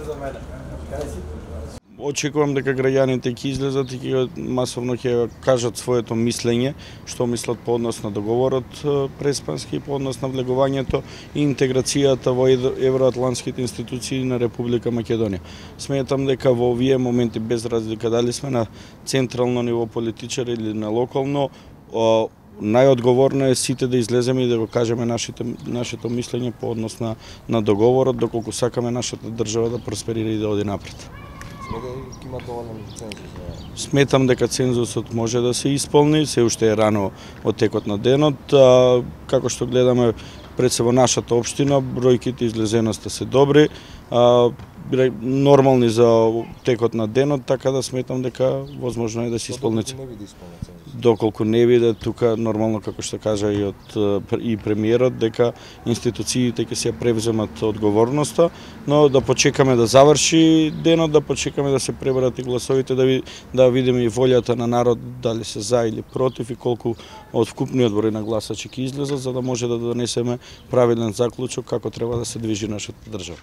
за мене. Очекувам дека граѓаните ќе излезат и ќе масовно ќе кажат своето мислење, што мислат по однос на договорот преспански, по однос на влегувањето и интеграцијата во евроатлантските институции на Република Македонија. Сметам дека во овие моменти, без разлика дали сме на централно ниво политичари или на локално, најодговорно е сите да излеземе и да го кажеме нашето мислење по однос на договорот, доколку сакаме нашата држава да просперира и да оди напред. Има доволен цензус? Сметам дека цензусот може да се исполни, се уште е рано од текот на денот. Како што гледаме пред се во нашата општина, бројките излезеноста се добри, нормални за текот на денот, така да сметам дека возможно е да се исполни. Доколку не биде тука нормално, како што кажа и премиерот, дека институциите ќе се превземат одговорноста, но да почекаме да заврши денот, да почекаме да се пребарат и гласовите, да видиме и волјата на народ дали се за или против и колку од вкупниот број на гласачи ќе излезат, за да може да донесеме правилен заклучок како треба да се движи нашата држава.